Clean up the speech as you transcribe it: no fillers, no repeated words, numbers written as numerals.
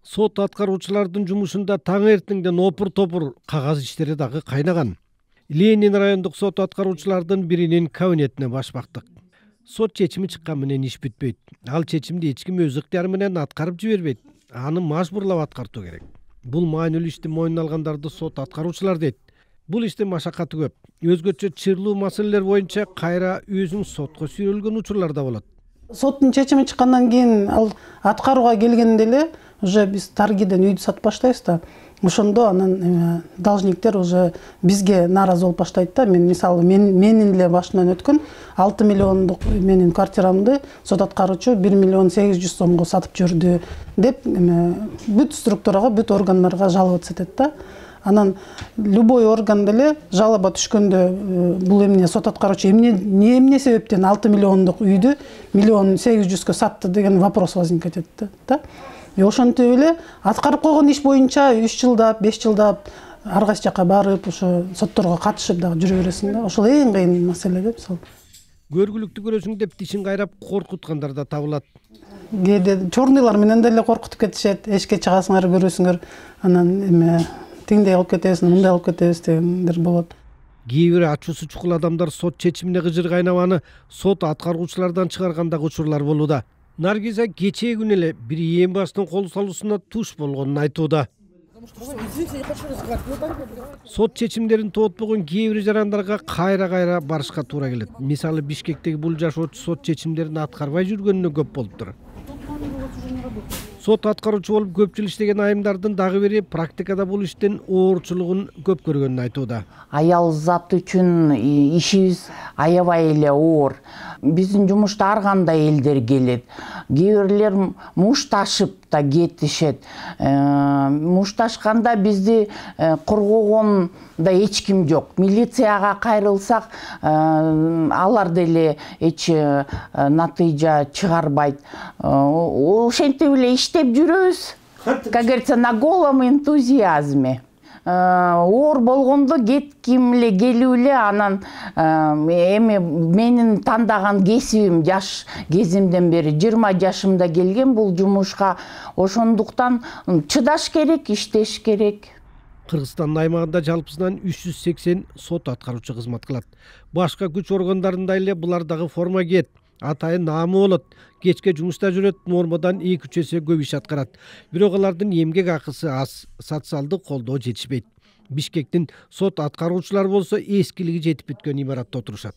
Сот аткаруучулардын жумушунда таң эртеңден опур-топур кагаз иштери дагы кайнаган. Ленин райондук сот аткаруучулардын биринин кабинетине баш бактык. Сот чечими чыккан менен иш бүтпөйт. Ал чечимди эч ким өз ыктыяры менен аткарып жибербейт. Аны мажбурлап аткартуу керек. Бул маанилүү ишти мойнуна алгандарды сот аткаруучулар дейт. Бул иштин машакаты көп. Өзгөчө чырлуу маселелер боюнча кайра өзүң сотко сүйрөлгөн учурлар да болот. Соттун чечими чыккандан кийин ал аткарууга келгенде эле уже биз торгиден үйдү сатып баштайбыз да. Ошондо анан должниктер уже бизге нааразы болуп баштайт да. Мен мисалы менин эле башымдан өткөн 6 миллиондук менин квартирамды сот аткаруучу 1 миллион 800 сомго сатып жүрдү деп бүт структурага, бүт органдарга жалоба этет да. Анан любой орган деле жалоба түшкөндө бул эмне сот аткаруучу эмне себептен 6 миллиондук үйдү 1 миллион 800гө сатты деген вопрос возникать этет да. Ошентип эле аткарып койгон иш боюнча 3 жылдап, 5 жылдап ар кайсы жака барып, ошо сотторго катышып дагы жүрө бересиң да. Ошол эң кыйын маселе деп мисалы. Көргүлүктү көрөсүң деп тишин кайрап коркуткандар да табылат. Кээде чорныйлар менен деле коркутуп кетишет. Эшикке чыгасыңар, көрөсүңөр, анан тиңдей кылып кетебиз, мындай кылып кетебиз дегендер болот. Кээ бир ачуусу чукул адамдар сот чечимине кыжыр кайнабаны сот аткаруучулардан чыгаргандагы учурлар болууда. Наргиза кечээ күнү эле бир ээн баштын кол салуусуна туш болгонун айтууда. Сот чечимдерин тоотпогон кээ бир жарандарга кайра барышка туура келет. Мисалы Бишкектеги бул жашоочу сот чечимдерин аткарбай жүргөнүнө көп болуптур. Сот аткаруучу болуп көп жыл иштеген айымдардын дагы бири практикада бул иштин оорчулугун көп көргөнүн айтууда. Аял зат үчүн ишибиз аябай эле оор. Биздин жумушта ар кандай элдер келет. Кээ бирлер мушташып да кетишет. Мушташканда бизди коргогон да эч ким жок. Милицияга кайрылсак, алар деле эч натыйжа чыгарбайт. Ошентип эле иштеп жүрөбүз. Как говорится, на голом энтузиазме. Оор болгондо кетким эле келип эле анан эми менин тандаган кесибим жаш кезимден бери 20 жашымда келген бул жумушка. Ошондуктан чыдаш керек, иштеш керек. Кыргызстандын аймагында жалпысынан 380 сот аткаруучу кызмат кылат. Башка күч органдарында эле булар дагы форма кийет. Атайын наамы болот. Кечке жумушта жүрөт, нормадан 2-3 эсе көп иш аткарат. Бирок алардын эмгек акысы аз, социалдык колдоо жетишпейт. Бишкектин сот аткаруучулары болсо эскилиги жетип бүткөн имаратта отурушат.